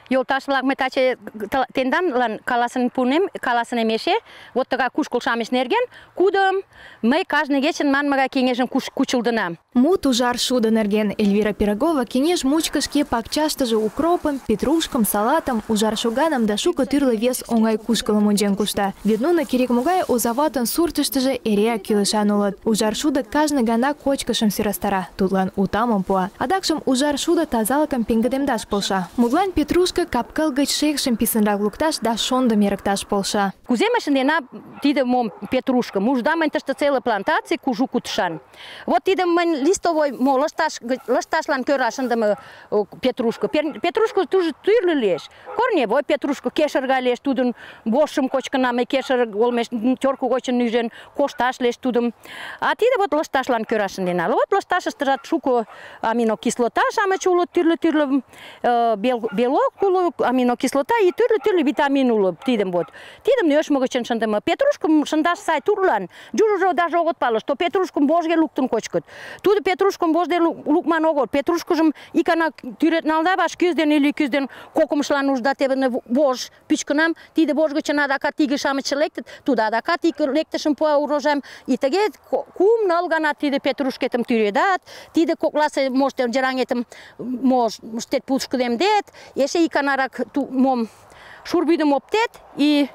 Йолташ-влак, мый таче тенданлан каласынем эше, вот тыгай кушкыл-шамыч нерген, кудым мый кажне кечын манмыгай кеҥежым кучылдынам. Мут ужар шудо нерген Эльвира Пирогова кеҥеж мучко шке пакчаштыже укропым, петрушкым, салатым, ужар шоганым да шуко тӱрлӧ вес оҥай кушкылым ончен кушта. Вет нуно керек-могай озаватын суртыштыжо эреак кӱлешан улыт. Ужар шудо кажне гана кочкышым сӧрастара, тудлан утамым пуа. Адакшым ужар шудо тазалыкым пеҥгыдемдаш полша. Мутлан петрушка капкыл гыч шекшым писынрак лукташ да шондым эрыкташ полша. Кузе мый шындена тиде мом петрушкым? Ужда мынь тыште целый плантаций кужу кутышан. Вот тидым мынь листовой лышташлан кӧра шындыме петрушка. Петрушка тоже тӱрлӧ лиеш. Корневой петрушка кешыр гай лиеш, тудын вожшым кочкынам, кешыр олмеш тёрко гочын нӱжен кошташ лиеш тудым. А тиде вот лышташлан кӧра шындена. Вот лышташыштыжат шуко аминокислота-шамыч улыт, тӱрлӧ белок уло, аминокислота и тӱрлӧ витамин уло тидым вот. Тидым нӧшмӧ гычын шындыме. Петрушкым шындаш сай турлан. Южыжо даже огыт пале, что петрушкым вожге луктын кочкыт. Тудо петрушкым вожде лукман огыл. Петрушкыжым икана тӱрет налда, ваш кӱз ден или кӱз ден кокымшлан ужда теве вож пӱчкынам, тиде вож гычын адакат иге-шамычше лектыт, тудо адакат ик лектышым пуа урожайым. И тыге кум-ныл гана тиде петрушкетым тӱредат, тиде кокласе можте жераҥетым моштет пушкыдемдет, эше иканарак мом шурбӱдым оптет и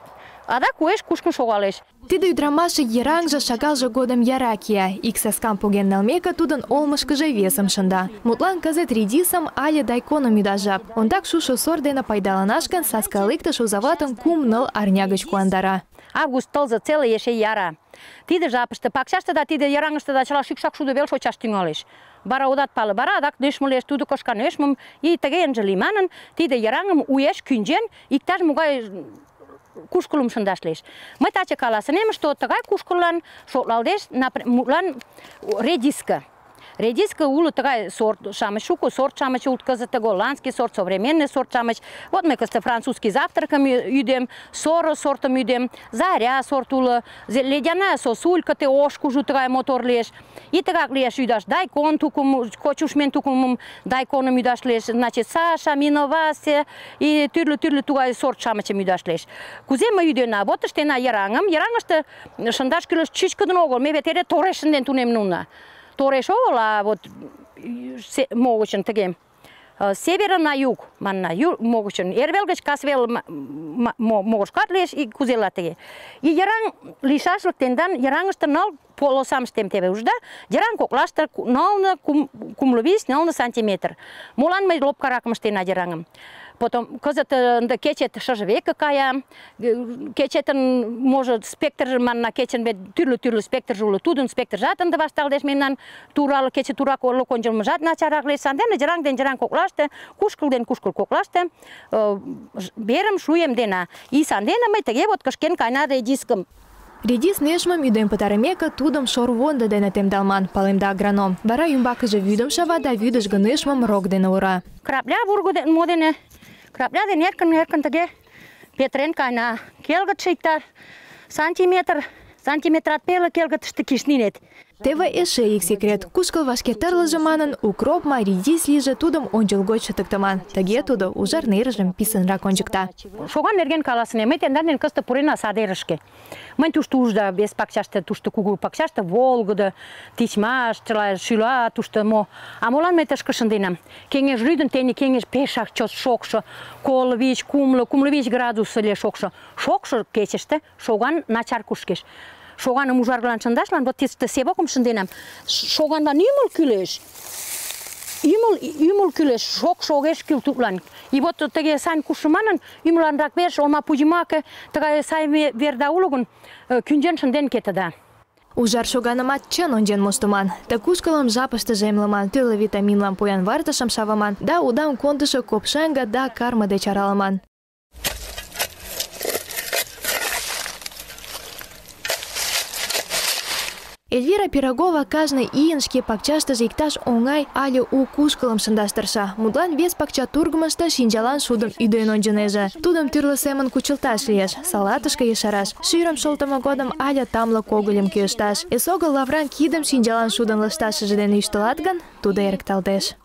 адак уэш кушкын шогалеш. Тиде ӱдырамашше йыраҥже шагалже годым яра кия. Ик саскам поген налмеке, тудын олмышкыжо весым шында. Мутлан кызыт редисым але дайконым ӱдаш жап. Ондак шушо сорт дене пайдаланаш гын, саска лектыш озаватын 3-4 арня гыч куандара. Август тылзе целый эше яра. Тиде жапыште пакчаште да тиде йыраҥыште чыла шӱкшак шудо вел шочаш тӱҥалеш. Бара одат пале, бара адак нӧшмӧ лиеш, тудо кошка нӧшмым, и тыге ынже лий манын, тиде йыраҥым уэш кӱнчен, иктаж-могай кушкылым шындаш лиеш. Мый таче каласынем, что тыгай кушкыллан шотлалдеш, мутлан редиска. Редиска уло тыгай сорт-шамыч, шуко сорт-шамыч улыт кызыт, голландский сорт, современный сорт-шамыч. Вот мый кызыт французский завтракым ӱдем, соро сортым ӱдем, заря сорт уло, ледяная сосулька, те ош кужу тыгай мотор лиеш. И тыгак лиеш ӱдаш дайкон тукым, кочушмен тукымым дайконым ӱдаш лиеш, значит, Саша, Миновасе и тӱрлӧ тугай сорт-шамычым ӱдаш лиеш. Кузе мый ӱдена? Вот ыштена йыраҥым. Йыраҥыште шындаш кӱлеш чӱчкыдын огыл. Ме вет эре тореш шынден тунемнуна. Тореш огыл, а вот могычын тыге севера на юг, манна, могычын эрвел гыч касвел могышкат лиеш и кузела тыге. И йыраҥ лийшашлык тендан йыраҥыште 4 полосам ыштем теве ужда, йыраҥ коклаште 4-5 сантиметр. Молан мый лопкаракым ыштена йыраҥым? Потом кызыт ынде кечет шыже веке кая, кечетын может спектрже манна, кечын вет тӱрлӧ спектрже уло, тудын спектржат ынде вашталтеш, мемнан турал кече турак орлык ончылмыжат начарак лиеш. Сандене йыраҥ ден йыраҥ коклаште, кушкыл ден кушкыл коклаште верым шуемдена. И сандене мый тыге вот кышкен кайна редискым. Редис нӧшмым ӱден пытарымеке, тудым шорвондо дене темдалман, палемда агроном. Вара ӱмбакыже вӱдым шава да вӱдыжгӧ нӧшмым рок дене ура. Крапля вурго мо дене, крапля дене эркын тыге петырен кайна. Келгытше иктаж сантиметрат пеле келгытыште кишнинет. Теве эше ик секрет. Кушкыл вашке тырлыже манын, укроп ма, редис лийже, тудым ончылгоч чытыктыман. Тыге тудо ужар нерыжым писынрак ончыкта. Шоган нерген каласынем, мый тендан дене кызыт пурена садерышке. Мынь тушто ужда вес пакчаште, тушто кугу пакчаште волгыдо, тичмаш, чыла шӱла, тушто мо. А молан мый тышке шынденам? Кеҥеж рӱдын, тений кеҥеж пешак чот шокшо, 25 градус ыле шокшо. Шокшо кечыште шоган начар кушкеш. Шоганым ужаргылан шындашлан, вот тисте себокым шынденам. Шоганлан ӱмыл кӱлеш. Ӱмыл кӱлеш, шокшо огеш кӱл тудлан. И вот тыге сайын кушшо манын, ӱмыланрак верш, олма пуйымаке, тыгай сай верда уло гын, кӱнчен шынден кетыда. Ужар шоганымат чын ончен моштыман. Ты кушкылым жапыштыже эмлыман, тӱрлӧ витаминлан поян вартышым шавыман, да удам кондышо копшаҥге да карме деч аралыман. Эльвира Пирогова кажне ийын шке пакчаштыже иктаж оҥай але у кушкылым шындаш тырша. Мутлан вес пакча тургымышто шинчалан шудым ӱден ончынеже. Тудым тӱрлӧ семын кучылташ лиеш, салатышке ешараш, шӱрым шолтымо годым але тамле когыльым кӱэшташ. Эсогыл лавран кидым шинчалан шудын лышташыже дене ӱштылат гын, тудо эрыкталтеш.